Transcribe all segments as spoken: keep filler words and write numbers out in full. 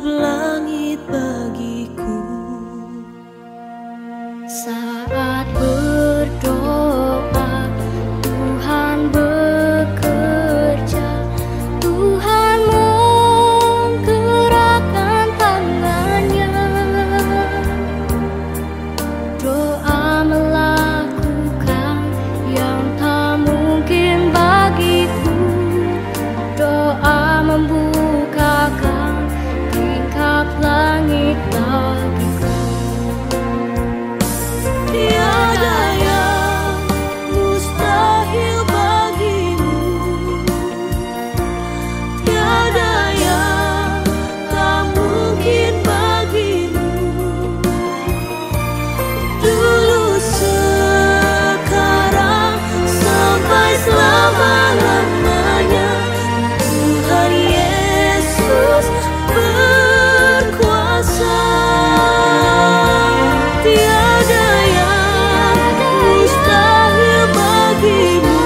langit bagiku. Saat berdoa, Tuhan bekerja, Tuhan menggerakkan tangan-Nya. Doa melakukan yang tak mungkin bagiku. Doa membukakan tingkap langit bagiku. Tiada yang mustahil bagimu. Tiada yang tak mungkin bagimu. Dulu, sekarang, sampai selama-lamanya, Tuhan Yesus berkuasa. Tiada yang mustahil bagimu.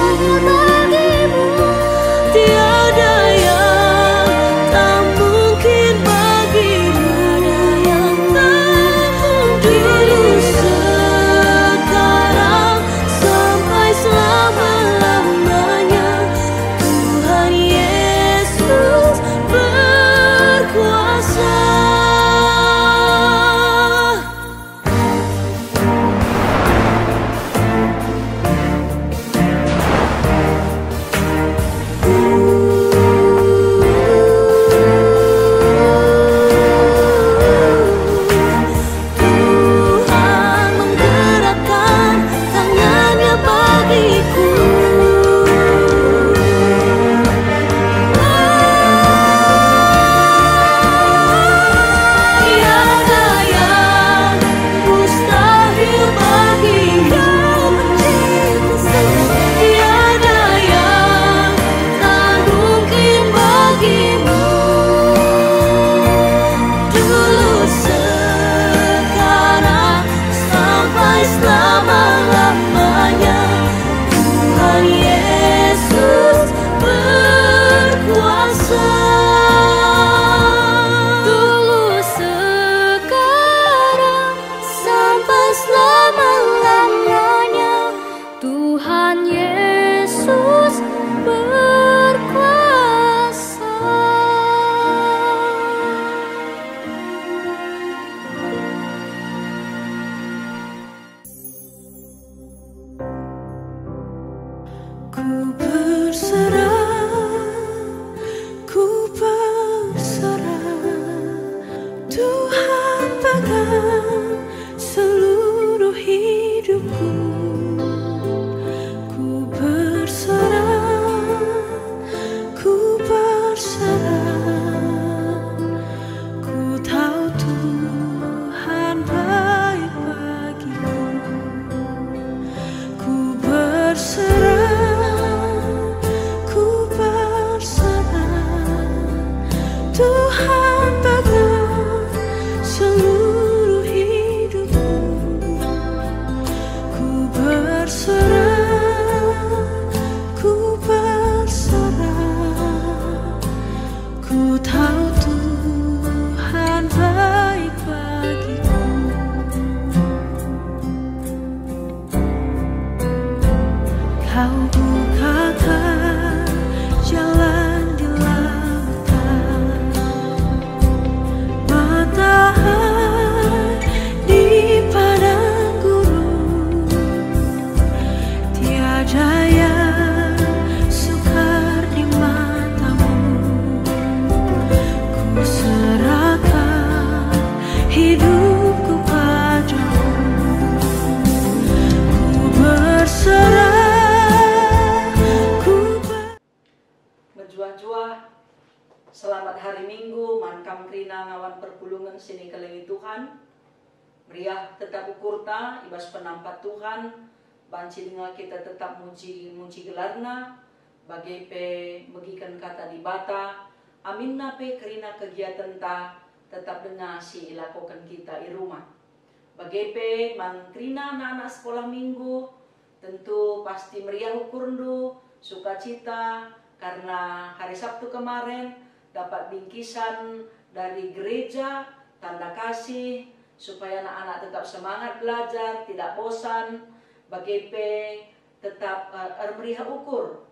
Tiada yang tak mungkin bagimu. Dulu, sekarang, sampai selama-lamanya, Tuhan Yesus berkuasa. Tuhan menggerakkan tangan-Nya bagiku. Tiada yang mustahil bagimu. Tiada yang tak mungkin bagimu. Dulu, sekarang, sampai selama-lamanya, Tuhan Yesus berkuasa. Dulu, sekarang, sampai selama-lamanya, Tuhan Yesus berkuasa. Ku berserah, ku berserah, Tuhan pegang seluruh hidupku. Ku berserah, ku berserah, ku tahu Tuhan baik bagiku. Ku berserah, ku berserah, Tuhan pegang seluruh hidupku. Ku berserah, ku berserah, ku tahu Tuhan baik bagiku. Kau bukakan jalan di lautan, mata air di padang gurun. Tiada yang sukar di matamu. Ku serahkan hidupku padamu. Ku berserah, ku ber- Mejuah-juah, selamat hari Minggu man kam kerina ngawan perpulungen si nikelengi Tuhan. Meriah tetap ukurta i bas penampat Tuhan, banci denga kita tetap muji-muji gelarNa, bage pe megiken Kata Dibata, aminna pe kerina kegiatenta tetap denga si ilakoken kita i rumah. Bage pe man kerina anak-anak sekolah minggu, tentu pasti meriah ukurndu, sukacita, karena hari Sabtu kemaren dapat bingkisan dari gereja, tanda kasih, supaya anak-anak tetap semangat belajar, tidak bosan, bage pe tetap, eh, ermeriah ukur.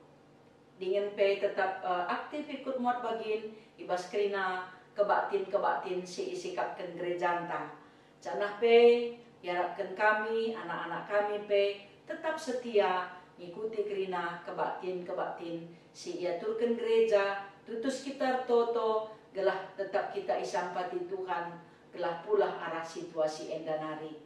Dingen pe tetap, eh, aktif ikut muat bagin i bas kerina kebaktin-kebaktin si isikapken gerejanta. Janah pe iarapken kami, anak-anak kami pe tetap setia ngikuti kerina kebaktin-kebaktin si iaturken gereja, tutus kita ertoto, gelah tetap kita isampati Tuhan, gelah pulah arah situasi enda nari.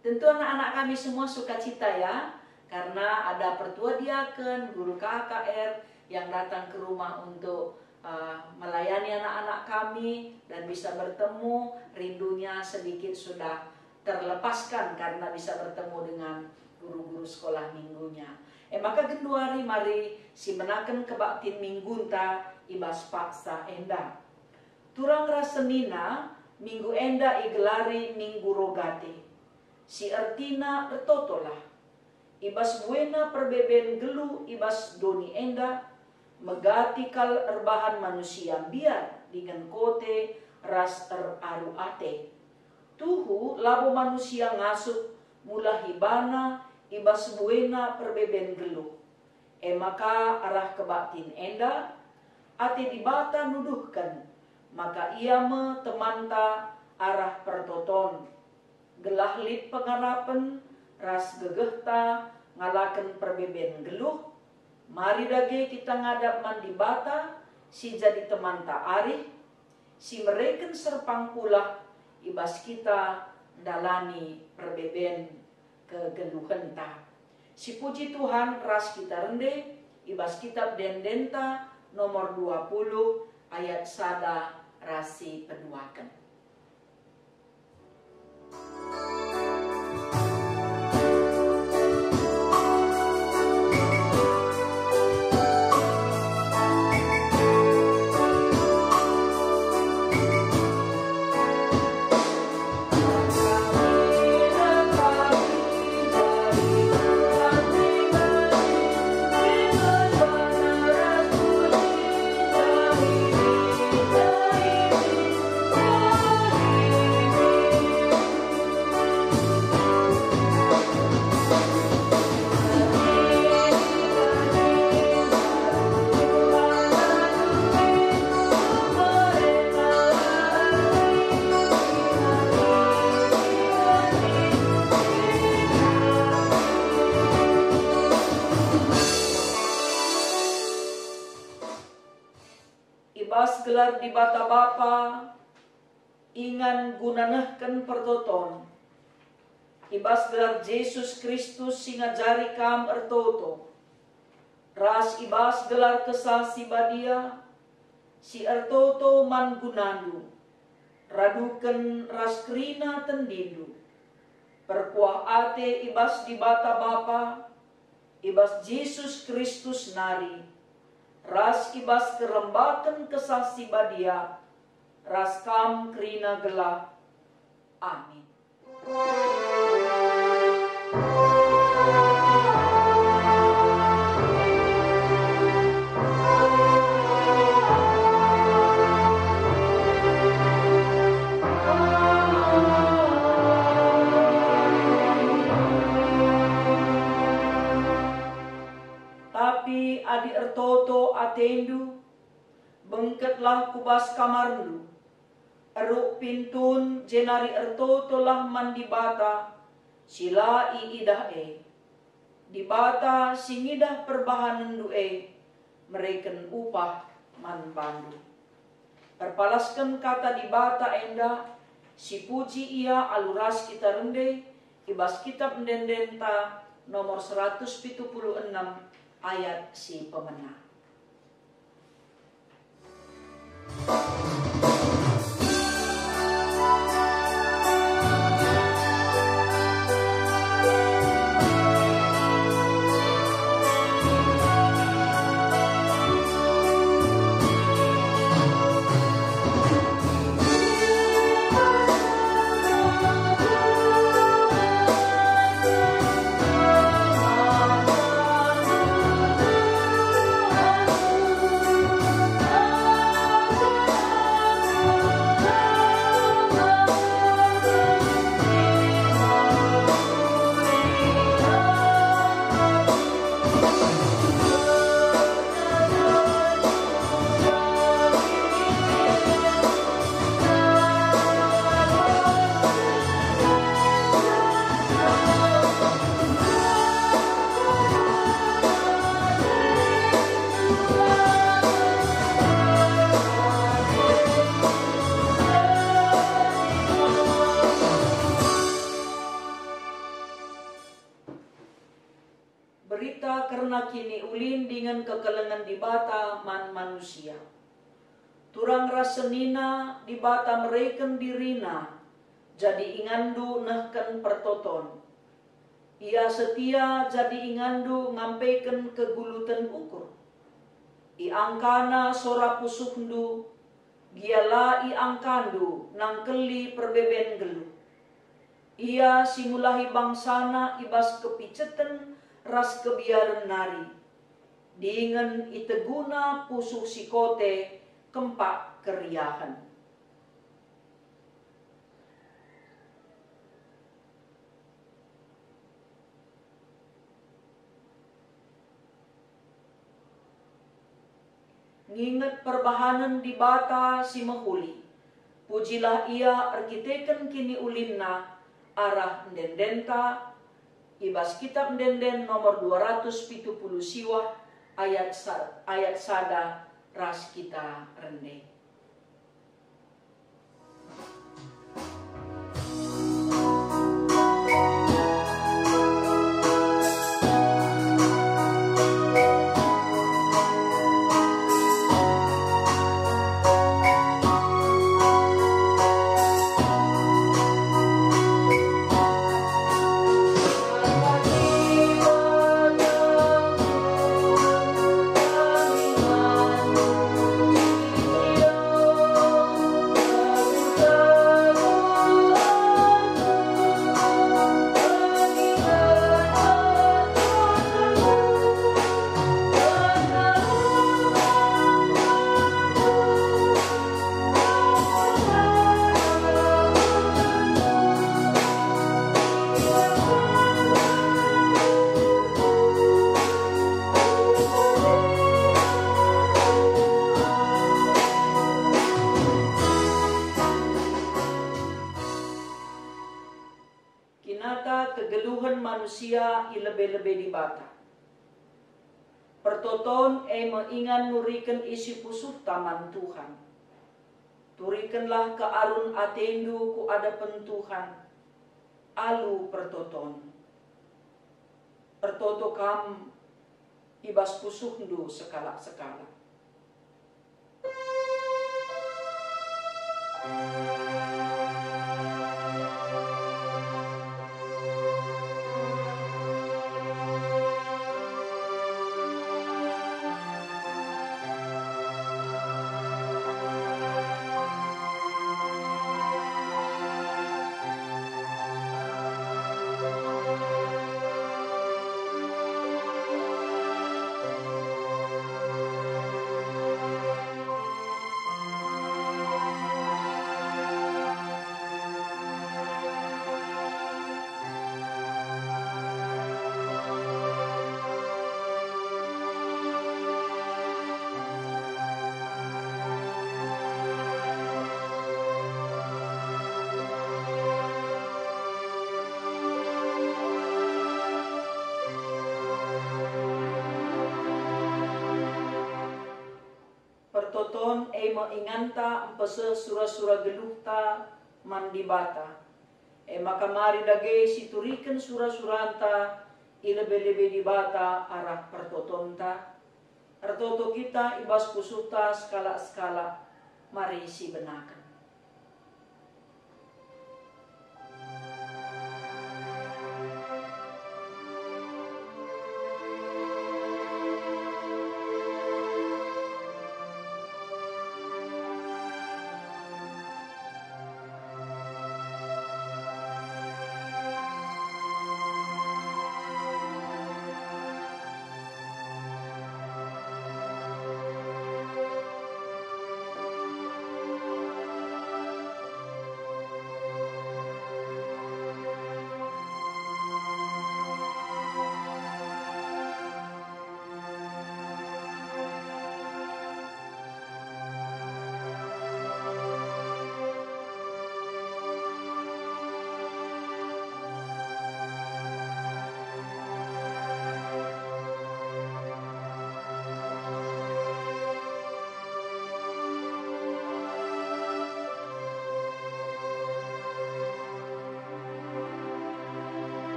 Tentu anak-anak kami semua sukacita ya, karena ada pertua diaken, guru K K R yang datang ke rumah untuk, eh, melayani anak-anak kami dan bisa bertemu, rindunya sedikit sudah terlepaskan karena bisa bertemu dengan guru-guru sekolah minggunya. E maka genduari mari sibenaken kebaktin minggunta i bas paksa enda. Turang ras senina, minggu enda igelari Minggu Rogate, si ertina ertotolah. I bas buena perbeben geluh i bas doni enda, megati kal erbahan manusia mbiar dingen kote ras eraru ate. Tuhu labo manusia ngasup mulahi bana i bas buena perbeben geluh. E maka arah kebaktin enda, ate Dibata nuduhken maka Ia me temanta arah pertoton, gelah lit pengarapen ras gegehta ngalaken perbeben geluh. Mari dage kita ngadap man Dibata si jadi temanta arih, si mereken serpang pulah i bas kita ndalani perbeben kegeluhenta. Sipuji Tuhan ras kita rende i bas kitab ende-endenta nomor dua puluh ayat sada ras si peduaken. I bas gelar Dibata Bapa, ingan guna nehken pertoton, i bas gelar Jesus Kristus si ngajari kam ertoto, ras i bas gelar Kesah Si Badia, si ertoto man gunandu, raduken ras kerina tendindu, perkuah ate i bas Dibata Bapa, i bas Jesus Kristus nari, ras i bas kerembaken Kesah Si Badia, ras kam kerina gelah. Amin. Tapi adi ertoto atendu, bengketlah ku bas kamarndu, eruk pintun jenari ertotolah man Dibata si la iidah e. Dibata si ngidah perbahanenndu e mereken upah man bandu. Erpalasken kata Dibata enda, sipuji Ia alu ras kita rende i bas kitab ende-endenta nomor seratus pitu puluh enem ayat si pemena. dingen kekelengen Dibata man manusia. Turang ras senina Dibata mereken diriNa jadi inganndu nehken pertoton. Ia setia jadi inganndu ngampeken keguluten ukur. IangkaNa sora pusuhndu, gia la iangkandu nangkeli perbeben nggeluh. Ia si mulahi bangsaNa i bas kepiceten ras kebiaren nari, dingen iteguNa pusuh si kote kempak keriahen. Nginget perbahanen Dibata si mehuli, pujilah Ia erkiteken kiniulinNa arah ende-endenta, i bas Kitap Ende-enden nomor dua ratus pitu puluh siwah, ayat sa-, ayat sada ras kita rende. Kinata kegeluhen manusia i lebe-lebe Dibata. Pertoton e me ingan nuriken isi pusuhta man Tuhan. Turikenlah kealun atendu ku adepen Tuhan alu pertoton. Ertoto kam i bas pusuhndu sekalak-sekalak. Pertoton e me inganta mpeseh sura-sura geluhta man Dibata. E maka mari dage situriken sura-suranta i lebe-lebe Dibata arah pertotonta. Ertoto kita i bas pusuhta sekalak-sekalak, mari sibenaken.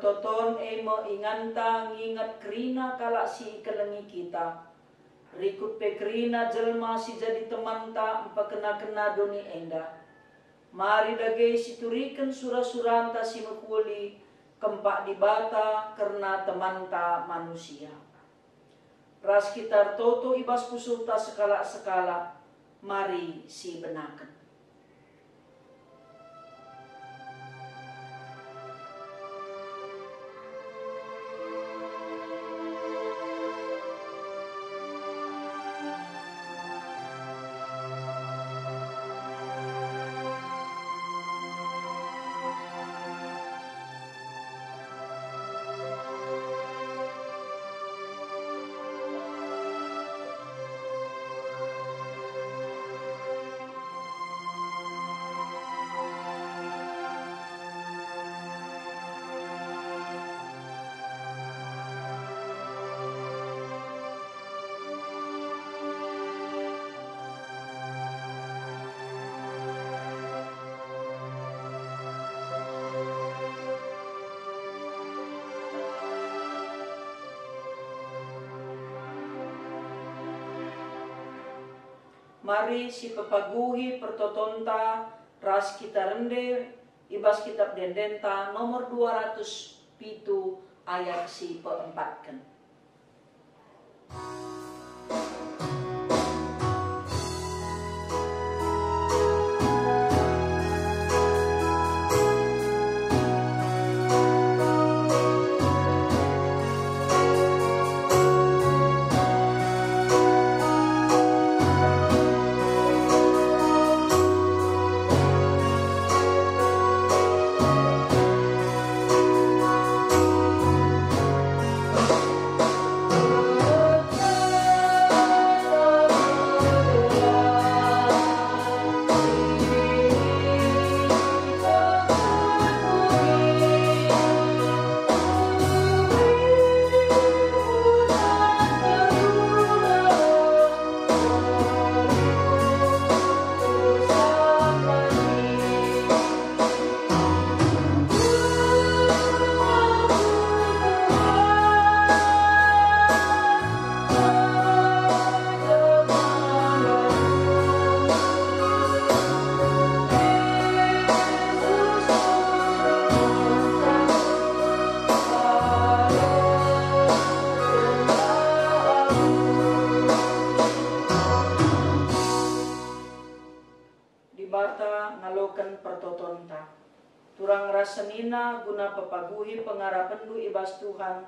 Pertoton e me inganta nginget kerina kalak si ikelengi kita, rikut pe kerina jelma si jadi temanta mpekena-kena doni enda. Mari dage situriken sura-suranta si mehuli kempak Dibata kerna temanta manusia. Ras kita ertoto i bas pusuhta sekalak-sekalak, mari sibenaken. Mari sipepaguhi pertotonta ras kita rende i bas Kitap Ende-endenta nomor dua ratus pitu ayat si peempatken. Dibata ngaloken pertotonta. Turang ras senina guna pepaguhi pengarapenndu i bas Tuhan,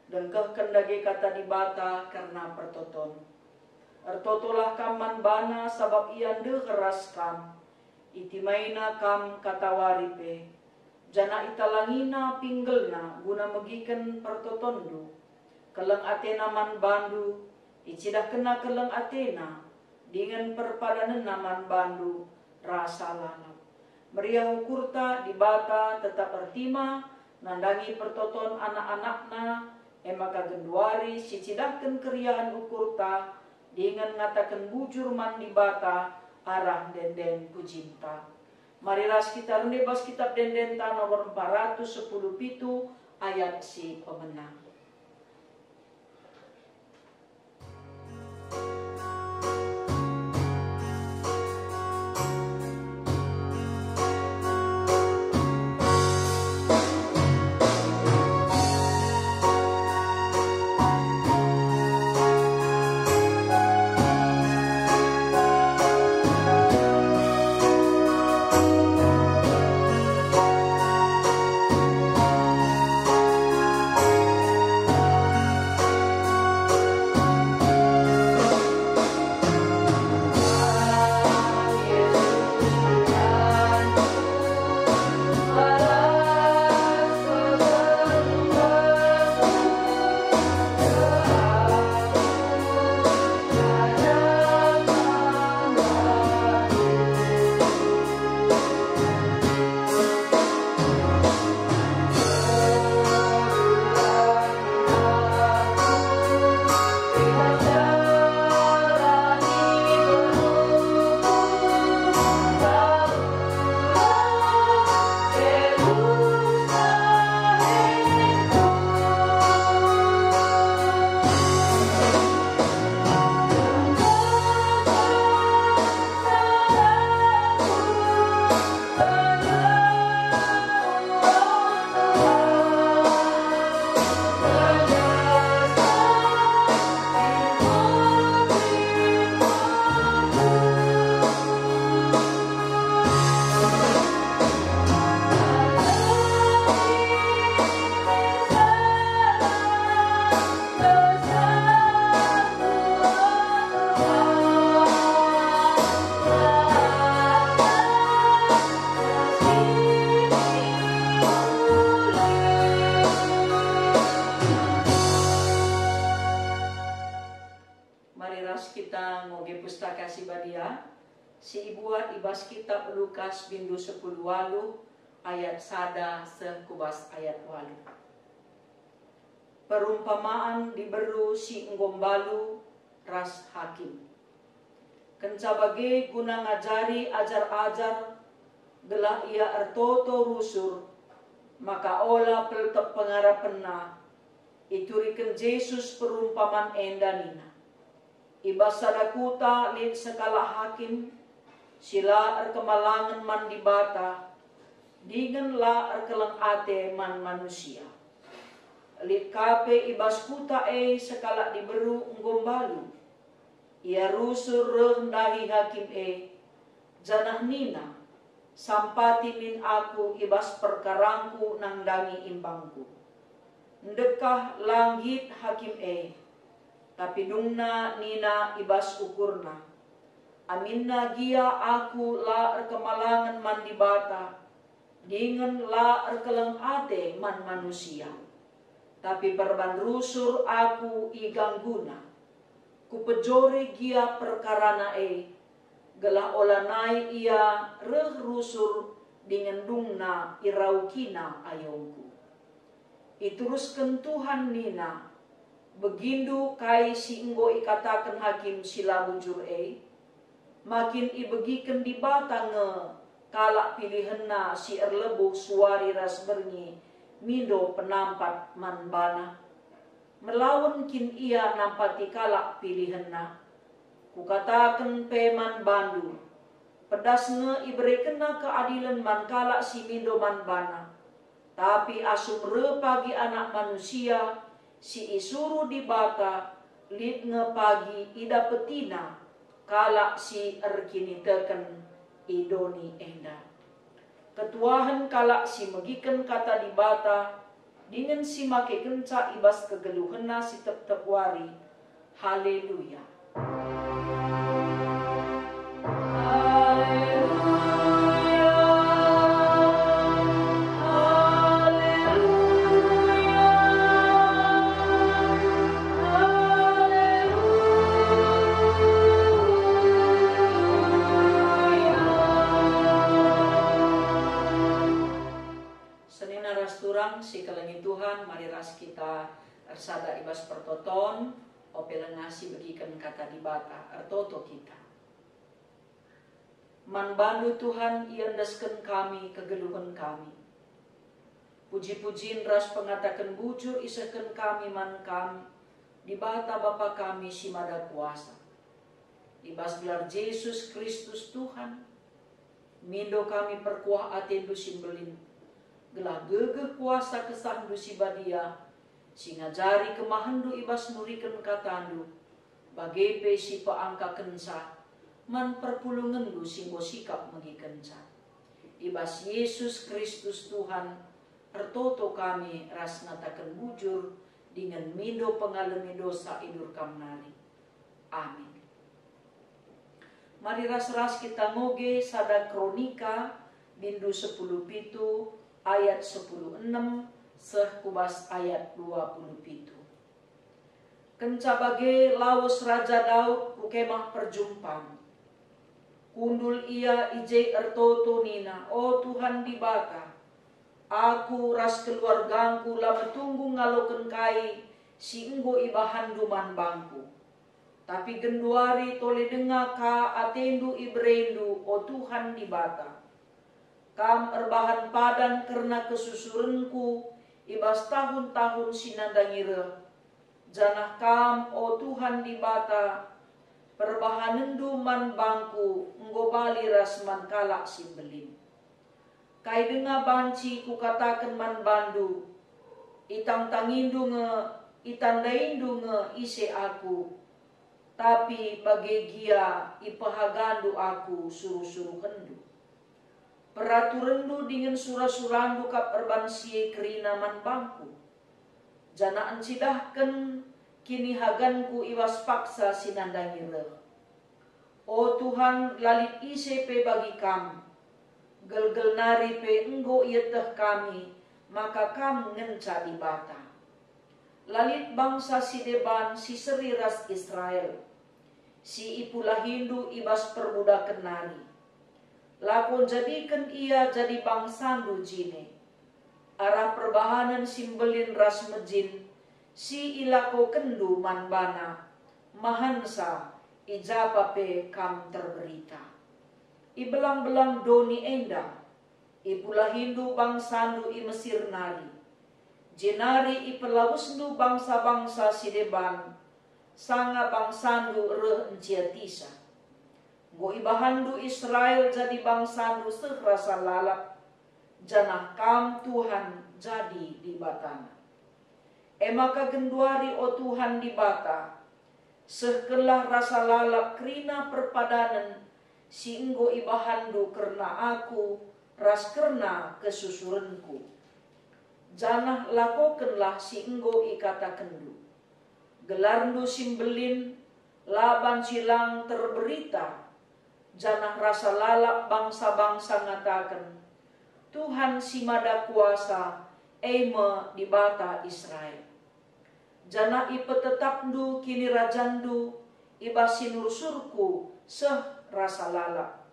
dengkehken dage kata Dibata kerna pertoton. Ertotolah kam man baNa sabap IA ndeher ras kam. Itimaina kam katawari pe, janah italangina pinggelNa guna megiken pertotonndu. Keleng ateNa man bandu, icidahkenNa keleng ateNa, dingen perpadanenNa man bandu rasa lalap. Meriah ukurta, Dibata tetap ertima nandangi pertoton anak-anakNa, e maka genduari sicidahken keriahen ukurta dingen ngataken bujur man Dibata arah ende-enden pujinta. Mari ras kita rende bas Kitap Ende-endenta nomor empat ratus sepuluh pitu ayat si pemena. Ras kita ngoge Pustaka Si Badia, si ibuat i bas Kitap Lukas bindu sepuluh waluh ayat sada seh ku bas ayat waluh. Perumpamaan diberu si enggo mbalu ras hakim. Kenca bage guna ngajari ajar-ajar, gelah ia ertoto rusur, maka ola peltep pengarapenna, ituriken Jesus perumpaman enda nina, "I bas sada kuta lit sekalak hakim si la erkemalangen man Dibata dingen la erkeleng ate man manusia. Lit ka pe i bas kuta e sekalak diberu enggo mbalu. Ia rusur reh ndahi hakim e, janah nina, 'Sampati min aku i bas perkarangku nandangi imbangku.' Ndekah la nggit hakim e, tapi dungna nina i bas ukurna, 'Aminna gia aku la erkemalangen man Dibata, dingen la erkeleng ate man manusia. Tapi perban rusur aku i gangguna. Kupejore gia perkarana e, gelah olanai ia reh rusur dingen dungna iraukina ayongku.' Iterusken Tuhan nina, 'Begindu kai si enggo ikataken hakim si la bujur e? Ma kin ibegiken Dibata nge kalak pilihenNa si erlebuh suari ras berngi mindo penampat man baNa? Melawen kin Ia nampati kalak pilihenNa? Kukataken pe man bandu, pedas nge iberekenNa keadilen man kalak si mindo man baNa. Tapi asum reh pagi Anak Manusia si isuruh Dibata, lit nge pagi idapetiNa kalak si erkiniteken i doni enda. Ketuahen kalak si megiken Kata Dibata dingen si makekenca i bas kegeluhenna si tep-tep wari. Haleluya! Senina ras turang si kelengi Tuhan, mari ras kita ersada i bas pertoton, ope langa sibegiken Kata Dibata, ertoto kita. Man baNdu, Tuhan, iendesken kami kegeluhen kami. Puji-pujin ras pengataken bujur isehken kami man Kam, Dibata Bapa kami si Mada Kuasa. I bas gelar Jesus Kristus, Tuhan, mindo kami perkuah ateNdu si mbelin, gelah gegeh kuasa KesahNdu si Badia, si ngajari kemahenNdu i bas nuriken KataNdu, bage pe si peangkakenca man perpulungenNdu si enggo sikap megikenca. I bas Jesus Kristus Tuhan, ertoto kami ras ngataken bujur dingen mindo pengalemi dosa idur Kam nari. Amin. Mari ras-ras kita ngoge sada Kronika, bindu sepuluh pitu, ayat sepuluh enem seh ku bas ayat dua puluh pitu. Kenca bage lawes Raja Daud ku Kemah Perjumpan. Kundul ia i je ertoto nina, "O Tuhan Dibata, aku ras keluargangku la metunggung ngaloken kai si enggo ibahanNdu man bangku. Tapi genduari tole denga ka ateNdu ibereNdu, o Tuhan Dibata. Kam erbahan padan kerna kesusurenku i bas tahun-tahun si nandangi reh, janah Kam, o Tuhan Dibata, perbahanenNdu man bangku enggo bali ras man kalak si mbelin. Kai denga banci kukataken man bandu, itangtangiNdu nge, itandaindu nge ise aku, tapi bage gia ipehagandu aku suruh-suruhenNdu. PeraturenNdu dingen sura-suraNdu kap erban si e kerina man bangku, janah encidahken kinihaganku i bas paksa si nandangi reh. O Tuhan, la lit ise pe bagi Kam. Gelgel nari pe enggo ieteh kami maka Kam ngenca Dibata. La lit bangsa si deban si seri ras Israel. si ipulahindu i bas perbudaken nari. Lako njadiken ia jadi bangsandu jine. Arah perbahanen si mbelin ras mejin si ilakokenndu man bana, mahansa i japa pe kam terberita. I belang-belang doni enda, ipulahindu bangsandu i Mesir nari, jenari ipelawesndu bangsa-bangsa si deban, sanga bangsandu reh enciatisa. Enggo ibahanndu Israel jadi bangsandu seh rasa lalap, janah Kam, Tuhan, jadi Dibatana. E maka genduari, o Tuhan Dibata, sehkenlah rasa lalap kerina perpadanen si enggo ibahanndu kerna aku ras kerna kesusurenku. Janah lakokenlah si enggo ikatakenndu. GelarNdu si mbelin la banci lang terberita, janah rasa lalap bangsa-bangsa ngataken, "Tuhan si Mada Kuasa, e me Dibata Israel." Janah ipetetapNdu kinirajanNdu i bas sinursurku seh rasa lalap.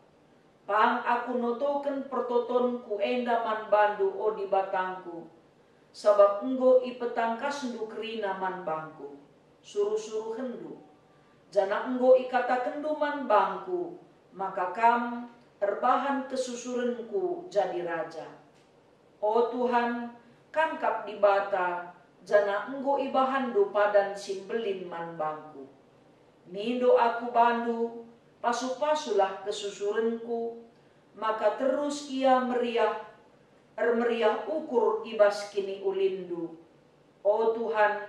Pang aku notoken pertotonku enda man bandu, o Dibatangku, sabap enggo ipetangkasndu kerina man bangku, suruh-suruhenNdu, janah enggo ikatakenndu man bangku maka Kam erbahan kesusurenku jadi raja. O Tuhan, Kam kap Dibata, janah enggo ibahanndu padan si mbelin man bangku. Mindo aku bandu, pasu-pasulah kesusurenku, maka terus ia meriah, ermeriah ukur i bas kiniulinndu. O Tuhan,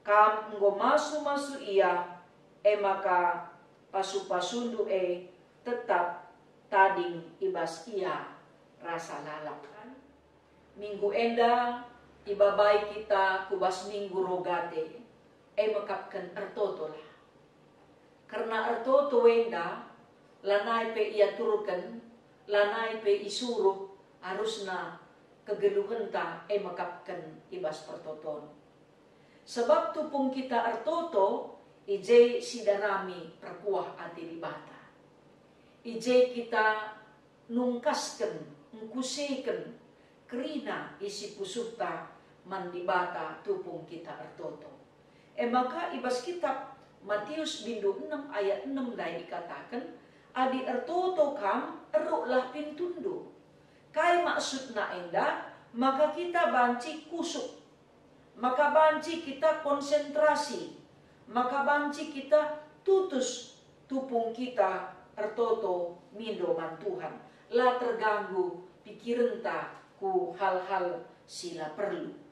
Kam enggo masu-masu ia, e maka pasu-pasundu e tetap tading i bas ia rasa lalap. Minggu enda ibabai kita ku bas Minggu Rogate, e mekapken ertotolah. Kerna ertoto enda, lanai pe iaturken, lanai pe isuruh, arusna kegeluhenta e mekapken i bas pertoton. Sebab tupung kita ertoto, i je sidarami perkuah ate Dibata. I je kita nungkasken, ngkuseken kerina isi pusuhta man Dibata tupung kita ertoto. E maka i bas kitap Matius bindu enem ayat enem ndai ikataken, "Adi ertoto kam, eruklah pintundu." Kai maksudna enda? Maka kita banci kusuk, maka banci kita konsentrasi, maka banci kita tutus tupung kita ertoto mindo man Tuhan, la terganggu pikirenta ku hal-hal si la perlu.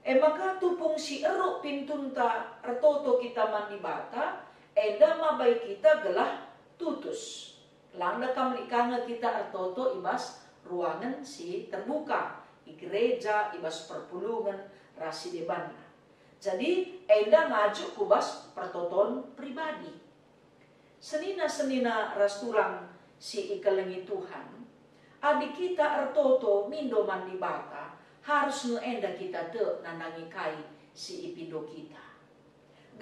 E maka tupung si eruk pintunta ertoto kita man Dibata, enda mabai kita gelah tutus. Langa kam lit ka nge kita ertoto i bas ruangen si terbuka, i gereja, i bas perpulungen, ras si debanna. Jadi, enda ngajuk ku bas pertoton pribadi. Senina-senina ras turang si ikelengi Tuhan, adi kita ertoto mindo man Dibata, harus nge enda kita tek nandangi kai si ipindo kita.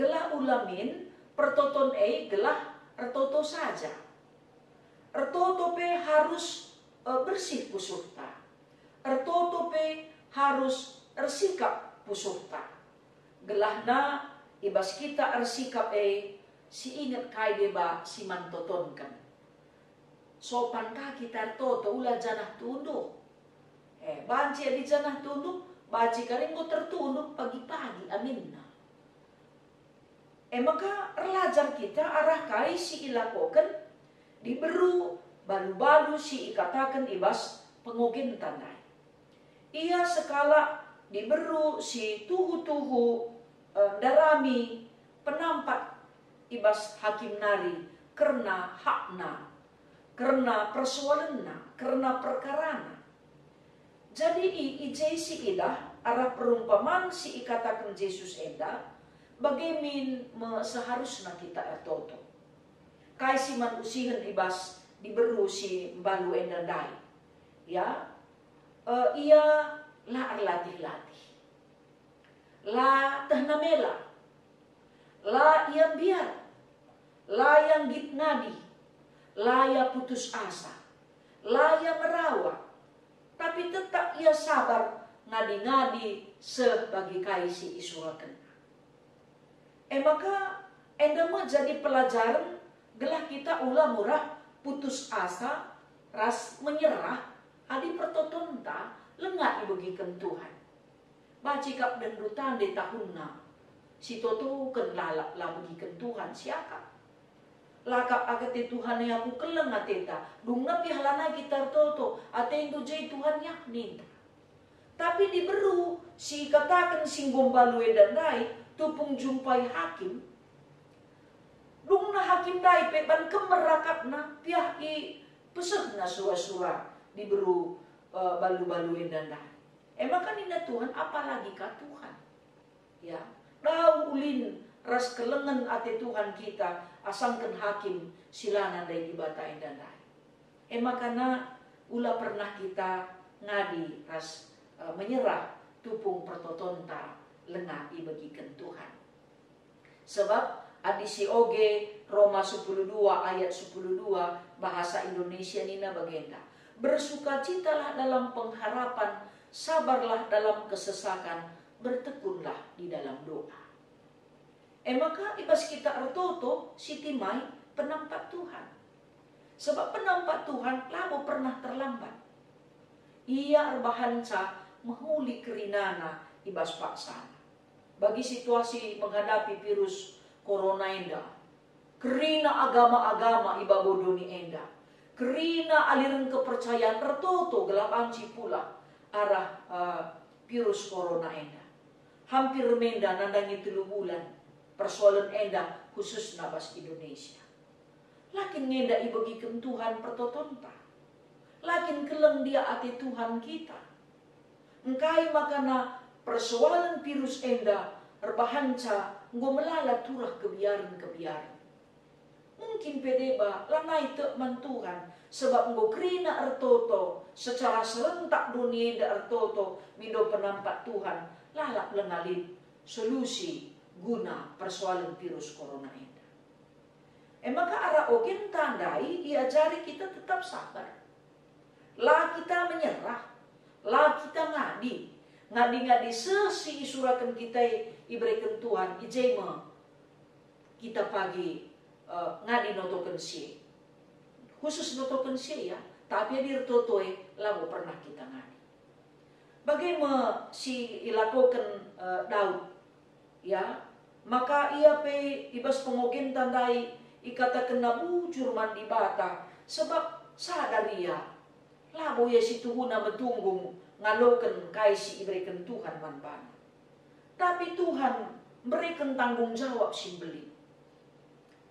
Gelah ula min pertoton e gelah ertoto saja. Ertoto pe harus, e, bersih pusuhta. Ertoto pe harus ersikap pusuhta. Gelahna i bas kita ersikap e, si inget kai deba si man totonken. Sopan ka kita ertoto, ula janah tunduh. E, banci adi janah tunduh, banci kari enggo tertunduh pagi-pagi aminna. E maka erlajar kita arah kai si ilakoken diberu balu-balu si ikataken i bas pengogenta ndai. Ia sekalak diberu si tuhu-tuhu, e, ndarami penampat i bas hakim nari kerna hakna, kerna persoalenna, kerna perkarana. Jadi i, i je si idah arah perumpaman si ikataken Jesus enda, bage min me seharusna kita ertoto. Kai si man usihen i bas diberu si mbalu enda ndai? Ya, e, ia la erlatih-latih. La tehna mela. La ia mbiar. La ia nggit ngadi, la ia putus asa, la ia ngerawa, tapi tetap ia sabar ngadi-ngadi seh bagi kai si isurakenna. E maka, enda me jadi pelajaren gelah kita ula murah putus asa ras menyerah adi pertotonta langa ibegiken Tuhan. Banci kap dendu tande tahunna, sitotoken lalap la begiken Tuhan siakap. La kap ate Tuhan e aku keleng ateta, dungna piah lanai kita ertoto, atendu je Tuhan ya, ninta. Tapi diberu si ikataken si enggo mbalu enda ndai tupung jumpai hakim. Dungna hakim ndai pe ban kemer akapna, piah ipesehna sura-sura diberu, eh, balu-balu enda ndai. E maka nina Tuhan, "Apalagi ka Tuhan?" Ya, dau ulin ras kelengen ate Tuhan kita asangken hakim si la nandai Dibata enda ndai. E maka na ula pernah kita ngadi ras, eh, menyerah tupung pertotonta langa ibegiken Tuhan. Sebab adi si oge Roma sepuluh dua ayat sepuluh dua bahasa Indonesia nina bagenda, "Bersukacitalah dalam pengharapan, sabarlah dalam kesesakan, bertekunlah di dalam doa." E maka i bas kita ertoto sitimai penampat Tuhan. Sebab penampat Tuhan labo pernah terlambat. Ia erbahanca mehuli kerinana i bas paksana. Bagi situasi menghadapi virus corona enda, kerina agama-agama i babo doni enda, kerina aliren kepercayaan ertoto gelah banci pulah arah, eh, virus corona enda. Hampir menda nandangi telu bulan persoalen enda, khususna bas Indonesia. La kin ngenda ibegiken Tuhan pertotonta? La kin keleng ndia ate Tuhan kita? Engkai makana persoalen virus enda erbahanca enggo melala turah kebiaren-kebiaren? Mungkin pe deba lanai tek man Tuhan, sebab enggo kerina ertoto secara serentak doni enda ertoto mindo penampat Tuhan, lalap langa lit solusi guna persoalen virus corona enda. E maka arah ogenta ndai iajari kita tetap sabar. La kita menyerah, la kita ngadi, ngadi-ngadi seh si isuraken kita e ibereken Tuhan, i je me kita pagi, eh, ngadi notoken si e. Khusus notoken si e, ya, tapi adi ertoto e labo pernah kita ngadi. Bage me si ilakoken, eh, Daud, ya, maka ia pe i bas pengogenta ndai ikatakenna bujur man Dibata, sebab sadar ia, labo ia si tuhuna metunggung ngaloken kai si ibereken Tuhan man bana. Tapi Tuhan mbereken tanggung jawab si mbelin.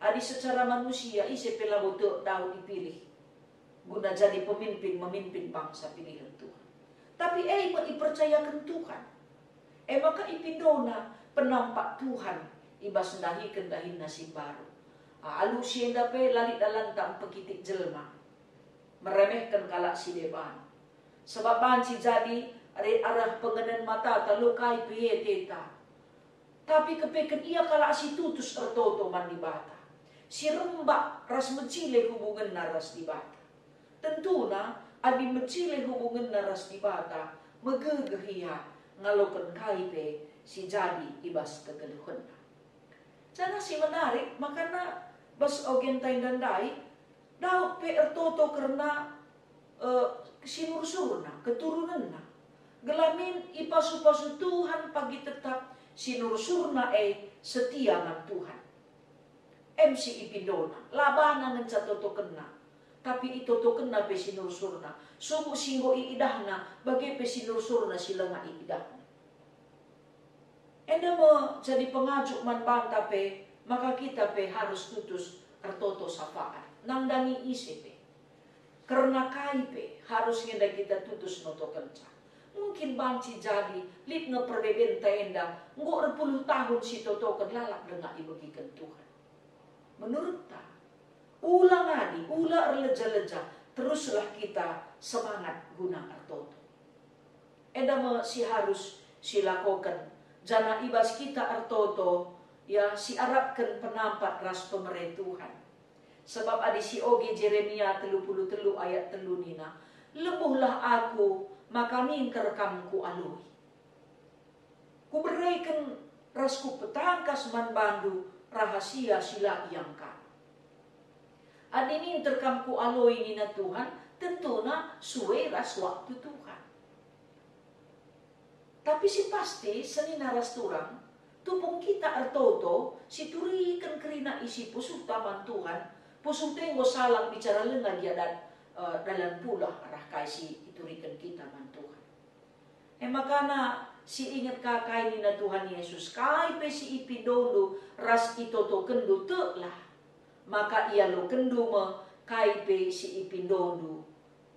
Adi secara manusia, ise pe labo tek Daud ipilih guna jadi pemimpin memimpin bangsa pilihen Tuhan. Tapi e me ipercayaken Tuhan. E maka ipindona penampat Tuhan i bas ndahiken dahinna si mbaru. Alu si enda pe la lit dalanta mpekitik jelma, meremehken kalak si deban. Sebab banci jadi arah pengenen matata lo kai pe ieteta. Tapi kepeken ia kalak si tutus ertoto man Dibata, si rembak ras mejile hubungenna ras Dibata. Tentuna, adi mejile hubungenna ras Dibata, megegeh ia ngaloken kai pe si jadi i bas kegeluhenna. Janah si menarik, makana bas ogenta enda ndai, Daud pe ertoto kerna, eh, sinursurna, keturunenna. Gelah min ipasu-pasu Tuhan pagi tetap sinursurna e setia man Tuhan. Em si ipindona, la bana ngenca totokenna, tapi itotokenna pe sinursurna, subuk si enggo iidahna, bage pe sinursurna si langa iidahna. Enda me jadi pengajuk man banta pe, maka kita pe harus tutus ertoto sapaat, nandangi ise pe. Kerna kai pe, harus ngenda kita tutus notokenca. Mungkin banci jadi lit nge perbebenta enda, enggo erpuluh tahun sitotoken lalap denga ibegiken Tuhan. Menurutta, ula ngadi, ula erleja-leja, teruslah kita semangat guna ertoto. Enda me si harus silakoken, janah i bas kita ertoto, Ia siarapken penampat ras pemere Tuhan. Sebab adi sioge Jeremia telu puluh telu ayat telu nina, "Lebuhlah aku, maka minter kam kualoi. Kubereken ras kupetangkas man bandu rahasia si la iangkana." Adi minter kam kualoi nina Tuhan, tentuna sue ras waktu Tuhan. Tapi si pasti, senina ras turang, tupung kita ertoto, situriken kerina isi pusuhta man Tuhan, pusuhta enggo salang bicara lenga gia dat, eh, dalan pulah arah kai si ituriken kita man Tuhan. E makana si inget ka kai nina Tuhan Yesus, "Kai pe si ipindondu ras itotokenndu, teklah, maka ialokenndu me kai pe si ipindondu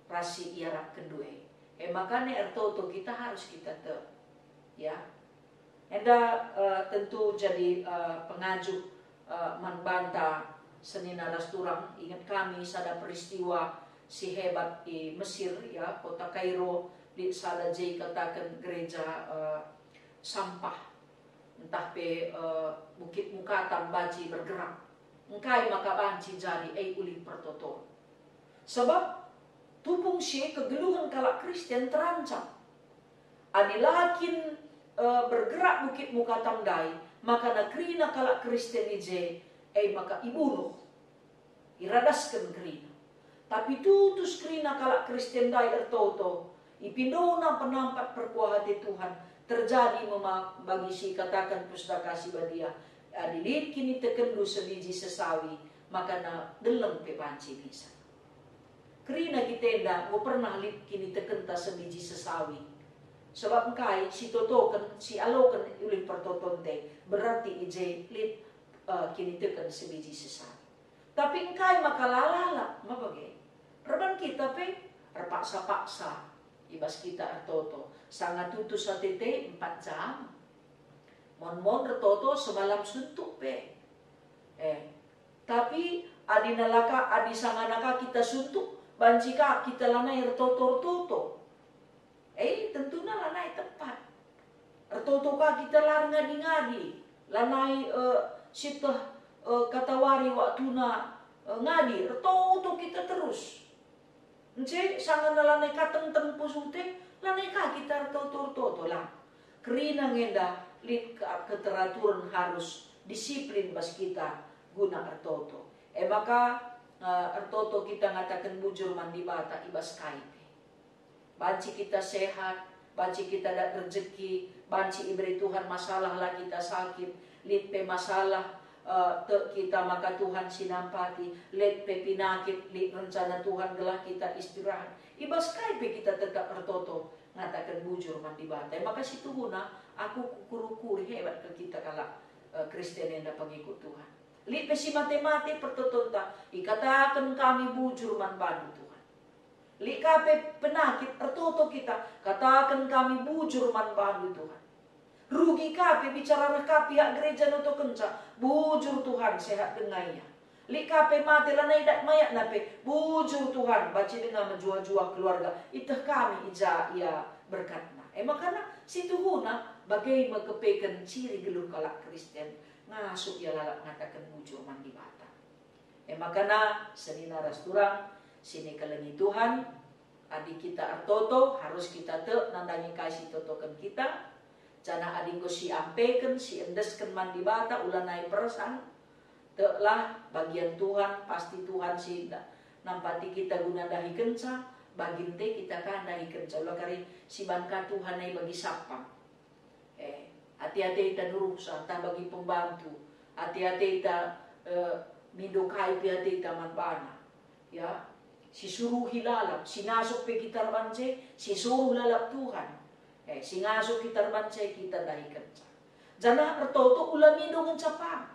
ras si iarapkenndu e." E makana ertoto kita harus kita tek. Ya. Enda, eh, tentu jadi, eh, pengajuh, eh, man banta senina ras turang. Inget kami sada peristiwa si hebat i Mesir, ya, kota Kairo, lit sada je ikataken gereja, eh, sampah, ntah pe, eh, bukit mukatam banci bergerak. Engkai maka banci jadi e ulih pertoton? Sebab tupung si e kegeluhen kalak Kristen terancam. Adi la kin, eh, bergerak bukit mukatam ndai, maka na kerina kalak Kristen i je, e maka ibunuh, iradasken kerina. Tapi tutus kerina kalak Kristen ndai ertoto, ipindona penampat perkuah ate Tuhan, terjadi me ma bagi si ikataken Pustaka Si Badia, "Adi lit kinitekenndu sebiji sesawi, maka na deleng pe banci misal." Kerina kita enda enggo pernah lit kinitekenta sebiji sesawi. Sebab engkai si totoken, si aloken ulih pertotonta, berarti i je lit, eh, kiniteken sebiji sesawi. Tapi engkai maka la lalap, ma bage? Erban kita pe erpaksa-paksa i bas kita ertoto, sanga tutus ateta empat jam. Mon-mon ertoto semalam suntuk pe. Eh, tapi adi nalaka, adi sangana ka kita suntuk, banci ka kita lanai ertoto-ertoto. Eh, tentuna lanai tepat. Ertoto ka kita la ngadi-ngadi, lanai, eh, sieteh, eh, katawari waktuna, eh, ngadi, ertoto kita terus. Ence sangana lanai ka tengteng pusuhta, lanai ka kita ertoto-ertoto, la. Kerina nge enda lit ke-, keteraturen harus disiplin bas kita guna ertoto. E maka, eh, ertoto kita ngataken bujur man Dibata i bas kai pe. Banci kita sehat, banci kita dat rejeki, banci iberi Tuhan masalah la kita sakit, lit pe masalah, eh, tek kita maka Tuhan si nampati, lit pe pinakit, lit rencana Tuhan gelah kita istirahat. I bas kai pe kita tetap ertoto, ngataken bujur man Dibata. E maka situhuna, aku kukuri-kuri hebat kal kita kalak, eh, Kristen enda pengikut Tuhan. Lit pe si mate-mate pertotonta, ikataken kami bujur man bandu Tuhan. Lit ka pe penakit ertoto kita, kataken kami bujur man bandu Tuhan. Rugi ka pe bicara reh ka pihak gereja notokenca, bujur Tuhan sehat denga ia. Lit ka pe mate lanai dat mayatna pe, bujur Tuhan banci denga mejuah-juah keluarga, ieteh kami i ja ia berkatna. E makana situhuna bage me kepeken ciri geluh kalak Kristen, ngasup ia lalap ngataken bujur man Dibata. E makana senina ras turang si nikelengi Tuhan, adi kita ertoto, harus kita tek nandangi kai si itotoken kita, janah adi enggo siampeken, siendesken man Dibata, ulanai persan, teklah, bagian Tuhan, pasti Tuhan si nda-, nampati kita guna ndahikenca, baginte kita ka ndahikenca, ula kari si ban ka Tuhan nai bagi sapang. Eh, ate-ateta nuruhsa ntah bagi pembantu, ate-ateta, eh, mindo kai pe ateta man bana. Ya, sisuruhi lalap, si ngasup pe kita erban e, sisuruh lalap Tuhan. Eh, si ngasup kita erban e kita ndahikenca. Janah ertoto ula mindo ngenca pang.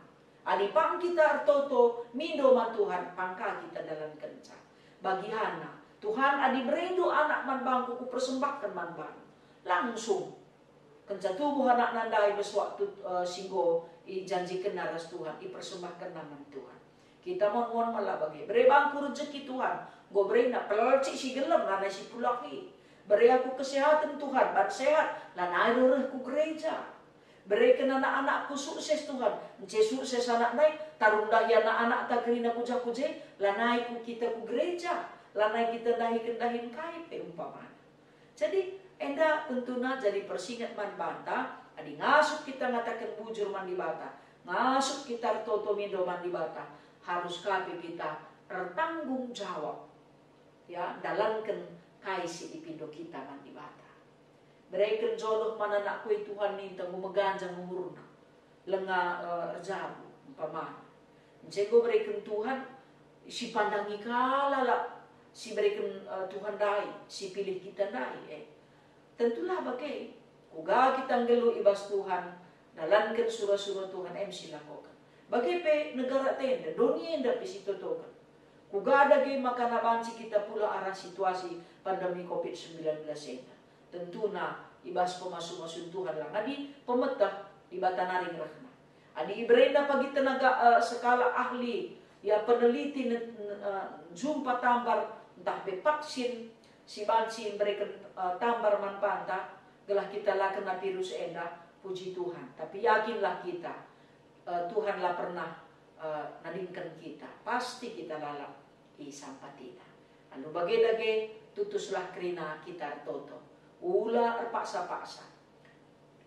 Adi pang kita ertoto, mindo man Tuhan, pang ka kita ndalankenca. Bagianna, Tuhan, adi berendu anak man bangku kupersembahken man bandu. Langsung. Kenca tubuh anakna ndai bas waktu, eh, si enggo ijanjikenna ras Tuhan, ipersembahkenna man Tuhan. Kita mon-mon mela bage. Bere bangku rejeki Tuhan, enggo berena pelcik si gelem lanai si pulahi. Bere aku kesehaten Tuhan, ban sehat, lanai reh ku gereja. Bereken anak-anakku sukses, Tuhan. Ence sukses anak ndai, tarung ndahi anak-anakta kerina ku jah ku je, lanai ku kita ku gereja, lanai kita ndahiken dahin kai pe umpamana. Jadi, enda tentuna jadi persinget man banta, adi ngasup kita ngataken bujur man Dibata, ngasup kita ertoto mindo man Dibata, harus ka pe kita ertanggung jawab, ya, ndalanken kai si ipindo kita man Dibata. Bereken jodoh man anakku, e Tuhan, ninta enggo meganjang umurna, langa, eh, erjabu, umpamana. Ence enggo bereken Tuhan, sipandangi kalak si bereken, eh, Tuhan ndai, sipilih kita ndai, eh. Tentulah bage, kuga kita nggeluh i bas Tuhan, ndalanken sura-sura Tuhan em silakoken. Bage pe negara enda, doni enda pe sitotoken. Kuga dage maka banci kita pulah arah situasi pandemi covid sembilan belas enda? Tentuna i bas pemasu-masun Tuhan lang adi pemeteh Dibata nari ngerehna. Adi iberena pagi tenaga, eh, sekalak ahli, ya, peneliti ne-, ne-, eh, jumpa tambar ntah pe vaksin si banci mbereken, eh, tambar man banta, gelah kita la kena virus enda, puji Tuhan. Tapi yakinlah kita, eh, Tuhan la pernah, eh, nadingken kita. Pasti kita lalap isampatiNa. Alu bage dage, tutuslah kerina kita ertoto. Ula erpaksa-paksa.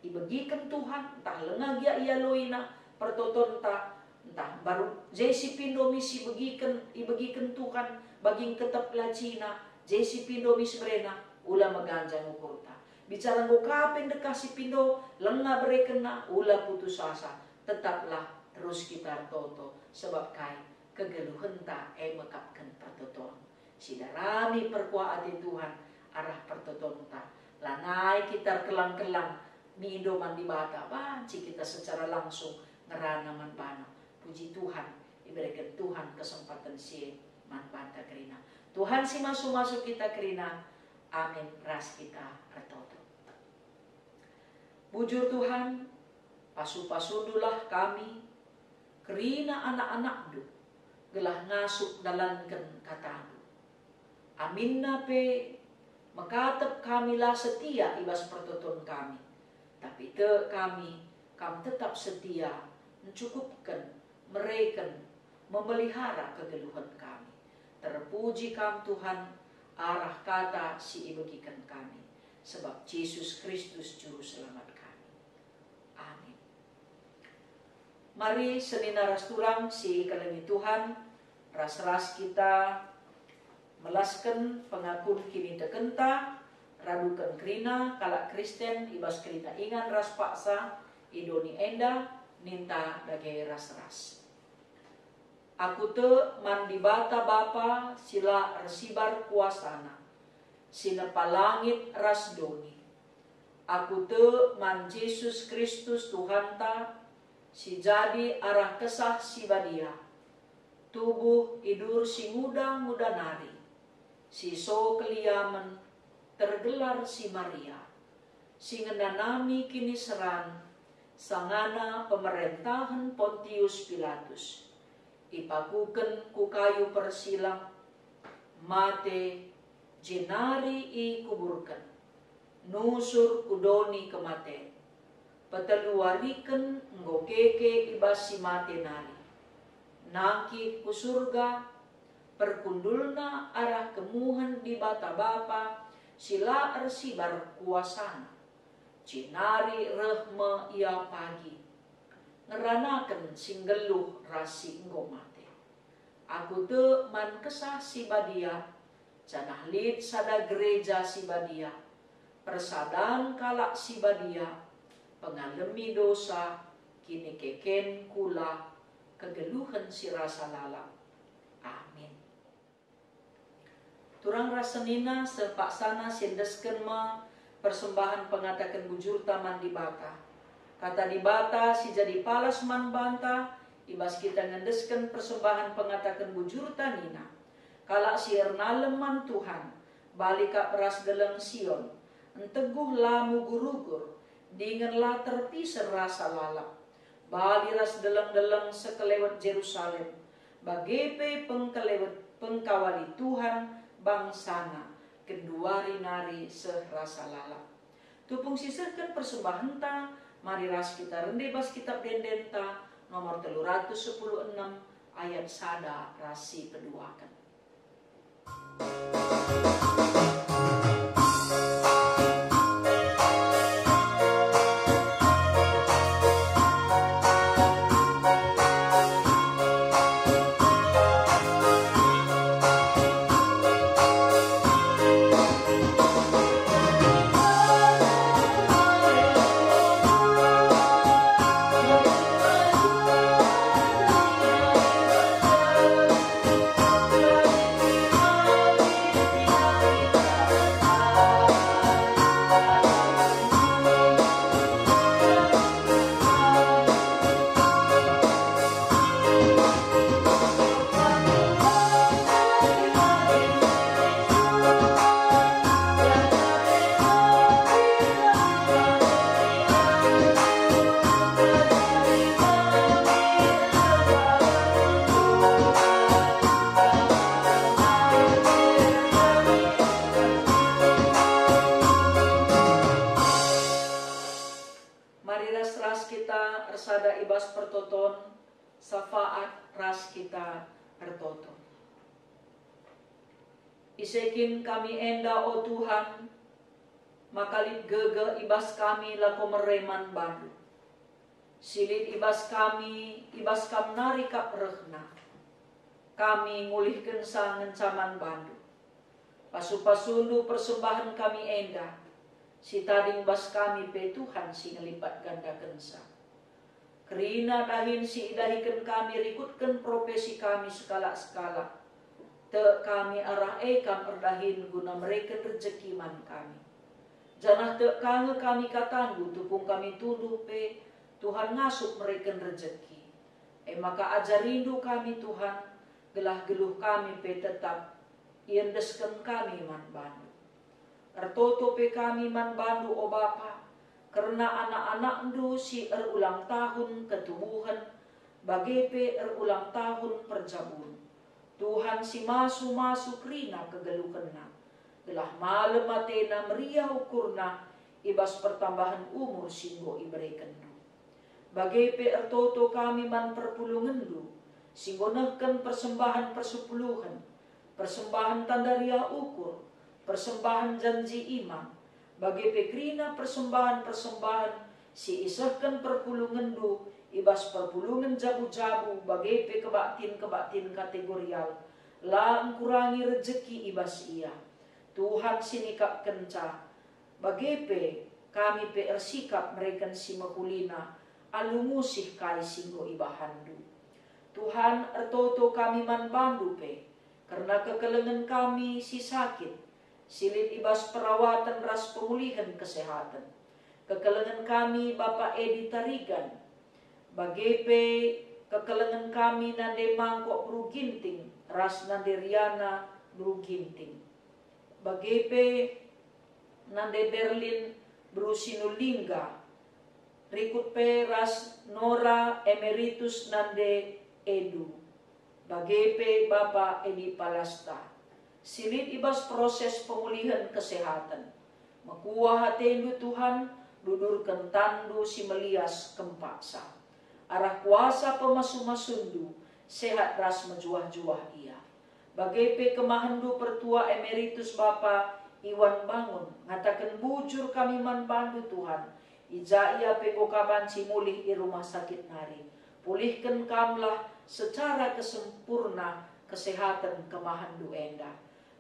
Ibegiken Tuhan, ntah langa gia ialoiNa pertotonta, ntah mbaru je si pindo mi si begiken, ibegiken Tuhan bagi ngketep lacina, je si pindo mi seberena, ula meganjang ukurta. Bicara enggo ka pe ndekah si pindo, langa berekenna, ula putus asa, tetaplah terus kita ertoto, sebab kai? Kegeluhenta e mekapken pertoton. Sidarami perkuah ate Tuhan arah pertotonta. Lanai kita erkelang-kelang mindo man Dibata, banci kita secara langsung ngerana man baNa. Puji Tuhan, ibereken Tuhan kesempaten si e man banta kerina. Tuhan si masu-masu kita kerina. Amin. Ras kita ertoto. Bujur Tuhan, pasu-pasundulah kami, kerina anak-anakndu, gelah ngasup ndalanken katandu. Aminna pe, mekatep kami la setia i bas pertoton kami, tapi tek kami, Kam tetap setia, encukupken, mereken, memelihara kegeluhen kami. Terpuji Kam, Tuhan, arah kata si ibegiken kami, sebab Jesus Kristus Juru Selamat kami. Amin. Mari senina ras turang si ikelengi Tuhan, ras-ras kita melasken pengakun kinitekenta, raduken kerina kalak Kristen i bas kerina ingan ras paksa i doni enda, ninta dage ras-ras. Aku tek man Dibata Bapa si la ersibar kuasaNa, si nepa langit ras doni. Aku tek man Jesus Kristus Tuhanta, si jadi arah Kesah Si Badia, tubuh idur si nguda-nguda nari, si so keliamen, tergelar si Maria, si ngenanami kiniseran, sangana pemerentahen Pontius Pilatus, ipakuken ku kayu persilang, mate, jenari ikuburken, nusur ku doni kematen. Peteluwariken enggo keke i bas si mate nari. Nangkih ku Surga, perkundulna arah kemuhen Dibata Bapa si la ersibar kuasaNa. Jenari reh me Ia pagi, ngeranaken si nggeluh ras si enggo mate. Aku tek man Kesah Si Badia, janah lit sada gereja si badia, persadan kalak si badia, pengalemi dosa, kinikeken kula, kegeluhen si rasa lalap. Amin. Turang ras senina, sepaksana siendesken me persembahen pengataken bujurta man Dibata. Kata Dibata si jadi palas man banta, i bas kita ngendesken persembahen pengataken bujurta nina, "Kalak si ernalem man Tuhan, bali kap ras Deleng Sion, enteguh la mugur-ugur, dingen la terpiser rasa lalap. Bali ras deleng-deleng sekelewet Jerusalem, bage pe pengkelewet pengkawali Tuhan bangsaNa, genduari nari seh rasa lalap." Tupung sisehken persembahenta, Mari ras kita rende bas Kitab Ende-Endenta nomor telu ratus sepuluh enem, ayat sada ras si peduaken. Mari ras-ras kita ersada i bas pertoton, safaat ras kita ertoto. Ise kin kami enda, o Tuhan, maka lit gegeh i bas kami lako mere man bandu. Si lit i bas kami, i bas Kam nari kap rehna. Kami ngulihkenca ngenca man bandu. Pasu-pasundu persembahen kami enda, si tading bas kami pe Tuhan si ngelipat gandakenca. Kerina dahin si idahiken kami rikutken profesi kami sekalak-sekalak. Tek kami arah e Kam erdahin guna mereken rejeki man kami. Janah tek ka nge kami katandu tupung kami tunduh pe, Tuhan ngasup mereken rejeki. E maka ajarindu kami, Tuhan, gelah geluh kami pe tetap iendesken kami man bandu. Ertoto pe kami man bandu, o Bapa, kerna anak-anakndu si erulang tahun ketubuhen, bage pe erulang tahun perjabun. Tuhan si masu-masu kerina kegeluhenna, gelah malem atena meriah ukurna i bas pertambahen umur si enggo iberekenndu. Bage pe ertoto kami man perpulungenndu, si enggo nehken persembahen persepuluhen, persembahen tanda riah ukur, persembahen janji imam, bage pe kerina persembahen-persembahen si isehken perpulungenndu i bas perpulungen jabu-jabu, bage pe kebaktin-kebaktin kategorial, la engkurangi rejeki i bas ia. Tuhan si nikapkenca, bage pe kami pe ersikap mereken si mehulina alu ngusih kai si enggo ibahanndu. Tuhan, ertoto kami man bandu pe, kerna kekelengen kami si sakit, si lit i bas perawaten ras pemulihen kesehaten. Kekelengen kami Bapa Edi Tarigan, bage pe kekelengen kami nande Mangkok Beru Ginting ras nande Riana Beru Ginting. Bage pe nande Berlin Beru Sinulingga, rikut pe ras Nora Emeritus nande Edu, bage pe Bapa Edi Palasta, si lit i bas proses pemulihen kesehaten. Mekuah atendu, Tuhan, dudurken tanNdu si melias kempaksa. Arah kuasa pemasu-masuNdu, sehat ras mejuah-juah ia. Bage pe kemahenNdu Pertua Emeritus Bapa Iwan Bangun, ngataken bujur kami man bandu, Tuhan, i ja ia pe enggo ka banci mulih i rumah sakit nari. Pulihken kamlah secara kesempurna kesehaten kemahenNdu enda.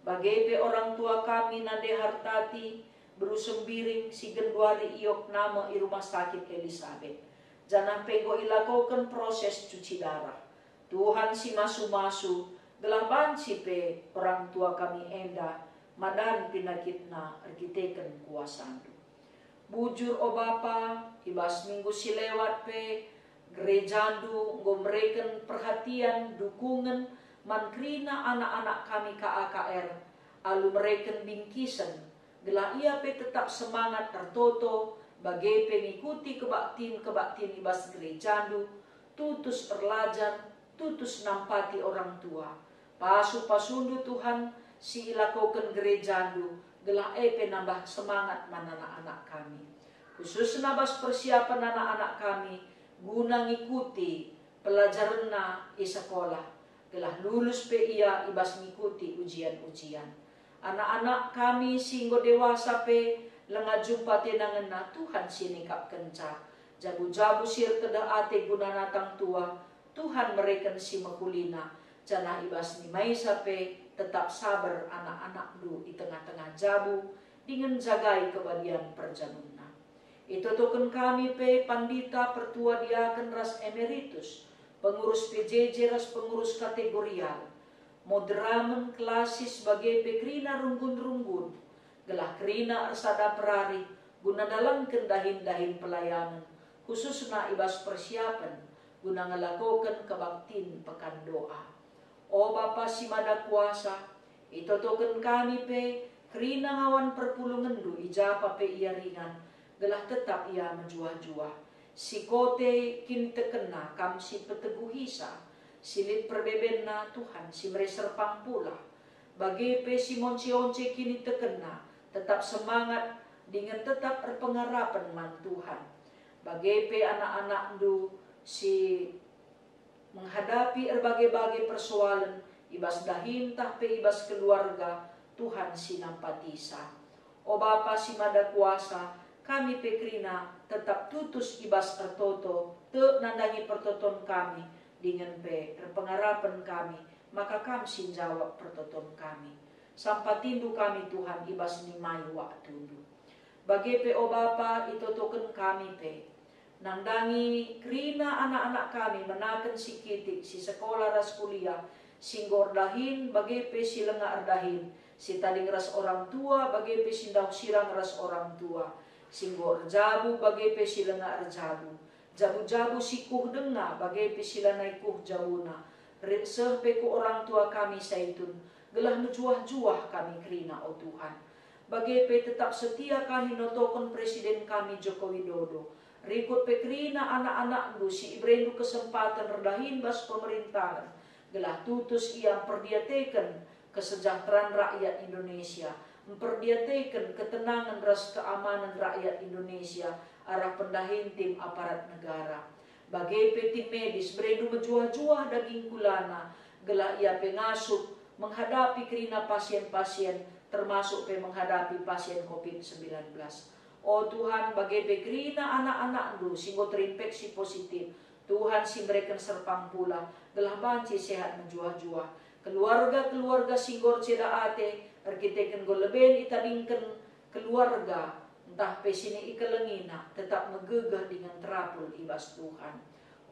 Bage pe orang tua kami nande Hartati, Beru Sembiring, si genduari iopname i Rumah Sakit Elisabet, janah pe enggo ilakoken proses cuci darah. Tuhan si masu-masu, gelah banci pe orang tua kami enda madan pinakitna erkiteken kuasaNdu. Bujur, o Bapa, i bas minggu si lewat pe gerejaNdu enggo mereken perhatian dukungen man kerina anak-anak kami K A K R alu mereken bingkisen, gelah ia pe tetap semangat ertoto, bage pe ngikuti kebaktin-kebaktin i bas gerejaNdu, tutus erlajar, tutus nampati orang tua. Pasu-pasuNdu, Tuhan, si ilakoken gerejaNdu, gelah e pe nambah semangat man anak-anak kami. khususna bas persiapen anak-anak kami guna ngikuti pelajarenna i sekolah, gelah lulus pe ia i bas ngikuti ujian-ujian. Anak-anak kami si enggo dewasa pe langa jumpa tenangenna Tuhan si nikapkenca. Jabu-jabu si erkeda ate guna natang tua, Tuhan mereken si mehulina, janah i bas nimaisa pe tetap saber anak-anakndu i tengah-tengah jabu dingen jagai kebadian perjabunna. Itotoken kami pe pandita, pertua diaken ras emeritus, pengurus P J J ras pengurus kategorial, moderamen, klasis bage pe kerina runggun-runggun, gelah kerina ersada perari guna ndalanken dahin-dahin pelayanen, khususna i bas persiapen guna ngelakoken kebaktin Pekan Doa. O Bapa si Mada Kuasa, itotoken kami pe kerina ngawan perpulungenndu i japa pe ia ringan, gelah tetap ia mejuah-juah. Si kote kinitekenna Kam si peteguhisa, si lit perbebenna Tuhan si mere serpang pula. Bage pe si monce-once kinitekenna tetap semangat dingen tetap erpengarapen man Tuhan. Bage pe anak-anakndu si menghadapi erbage-bage persoalen i bas dahin ntah pe i bas keluarga, Tuhan si nampatisa. O Bapa si Mada Kuasa, kami pe kerina tetap tutus i bas ertoto, tek nandangi pertoton kami, dingen pe erpengarapen kami maka Kam si njawab pertoton kami. Sampatindu kami, Tuhan, i bas nimai waktundu. Bage pe, o Bapa, itotoken kami pe. Nandangi kerina anak-anak kami menaken si kitik, si sekolah ras kuliah, si enggo erdahin bage pe si langa erdahin, si tading ras orang tua bage pe si ndauh sirang ras orang tua, si enggo erjabu bage pe si langa erjabu, jabu-jabu si kuh denga bage pe si lanai kuh jabuna, rit seh pe ku orang tua kami Saitun, gelah mejuah-juah kami kerina, o Tuhan. Bage pe tetap setia kami notoken Presiden kami Joko Widodo. Rikut pe kerina anak-anakndu si iberendu kesempaten erdahin bas pemerintahen, gelah tutus ia mperdiateken kesejahteraan rakyat Indonesia, mperdiateken ketenangen ras keamanen rakyat Indonesia arah pendahin tim aparat negara. Bage pe tim medis berendu mejuah-juah daging kulana, gelah ia pe ngasup menghadapi kerina pasien-pasien, termasuk pe menghadapi pasien covid sembilan belas. O Tuhan, bage pe kerina anak-anakndu si enggo terinfeksi positif, Tuhan si mereken serpang pula, gelah banci sehat mejuah-juah. Keluarga-keluarga si enggo erceda ate, erkiteken enggo leben itadingken keluarga, ntah pe si ikelengina, tetap megegeh dingen terapul i bas Tuhan.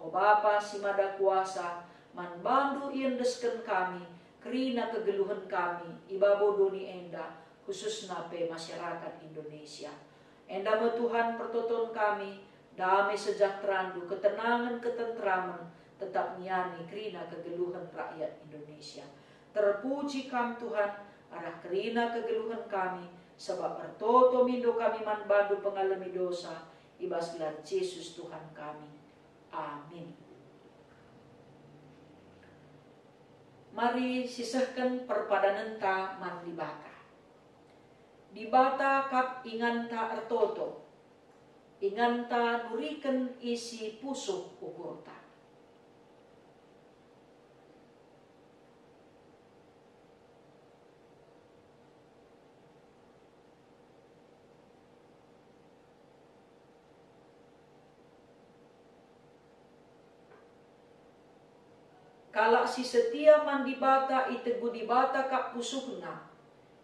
O Bapa si Mada Kuasa, man bandu iendesken kami, kerina kegeluhen kami i babo doni enda, khususna pe masyarakat Indonesia. Enda me Tuhan pertoton kami, dame sejahteranndu, ketenangen, ketenteramen, tetap ngiani kerina kegeluhen rakyat Indonesia. Terpuji Kam, Tuhan, arah kerina kegeluhen kami, sabap ertoto mindo kami man bandu pengalemi dosa, i bas gelar Jesus Tuhan kami. Amin. Mari sisehken perpadanenta man Dibata. Dibata kap inganta ertoto, inganta nuriken isi pusuh ukurta. Kalak si setia man Dibata itegu Dibata kap pusuhna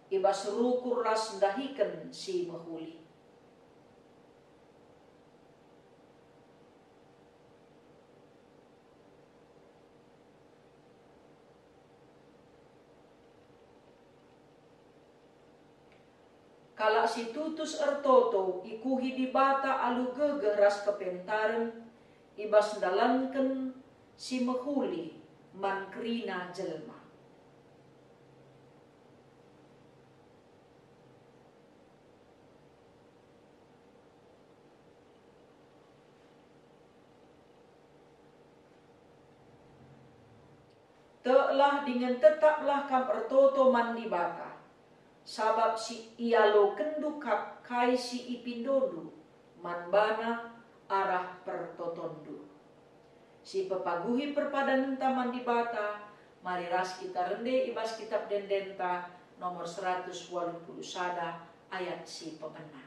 i bas rukur ras ndahiken si mehuli. Kalak si tutus ertoto ikuhi Dibata alu gegeh ras kepentaren i bas ndalanken si mehuli man kerina jelma. Teklah dingen tetaplah kam ertoto man Dibata, sabap si ialokenndu kap kai si ipindondu man bana arah pertotonndu. Si pepaguhi perpadanenta man Dibata, mari ras kita rende i bas Kitap Ende-Endenta nomor seratus waluh puluh sada ayat si pemena.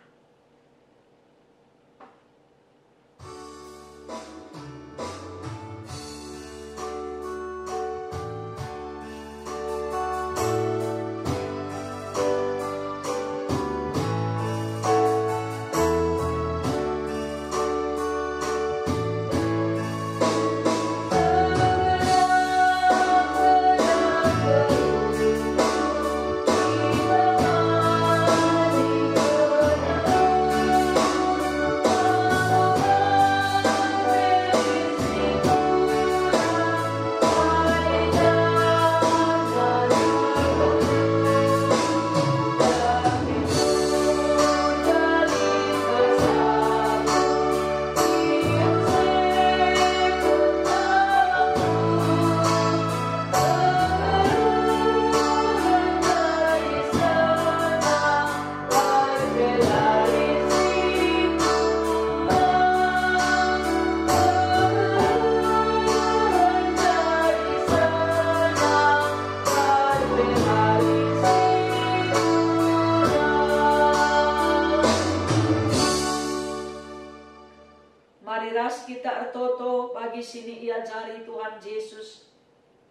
Mari ras kita ertoto bagi si niajari Tuhan Jesus,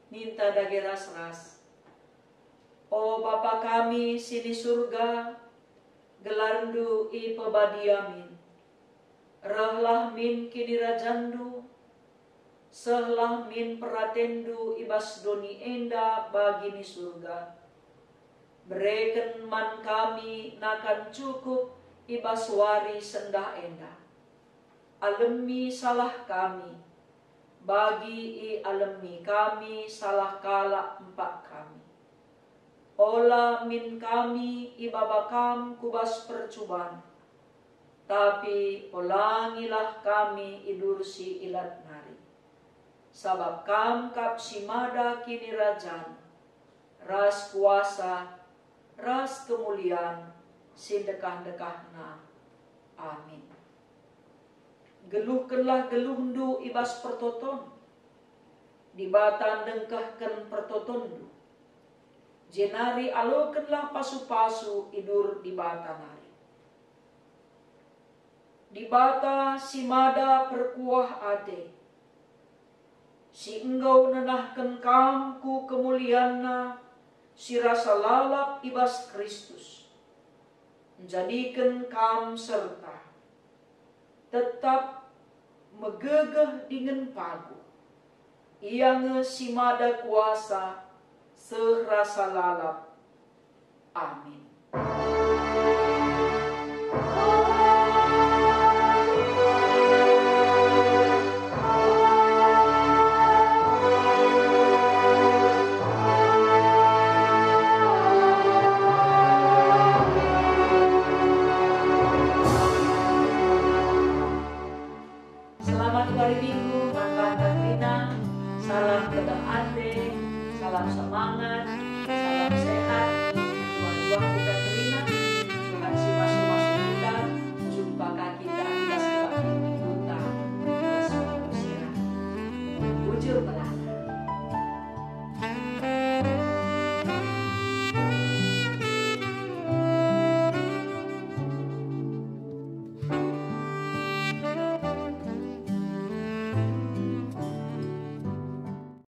ninta dage ras-ras. O Bapa kami si ni Surga, gelarNdu ipebadia min. Rehlah min kinirajanNdu, sehlah min peratenNdu i bas doni enda bagi ni Surga. Bereken man kami nakan cukup i bas wari sendah enda. Alemi salah kami, bagi ialemi kami salah kalak empak kami. Ola min kami ibaba Kam ku bas percuban, tapi olangilah kami idur si ilat nari. Sabap Kam kap si mada kinirajan, ras kuasa, ras kemulian si ndekah-ndekahna. Amin. Geluhkenlah geluhndu i bas pertoton, Dibata ndengkehken pertotonndu, jenari alokenlah pasu-pasu i dur Dibata nari. Dibata si mada perkuah ate, si enggo nenahken kam ku kemulianNa si rasa lalap i bas Kristus, njadiken kam serta tetap megegeh dingen paguh. Ia nge si mada kuasa seh rasa lalap. Amin. Selamat wari Minggu, man banta kerina. Salam kedeng ate, salam semangat, salam sehat.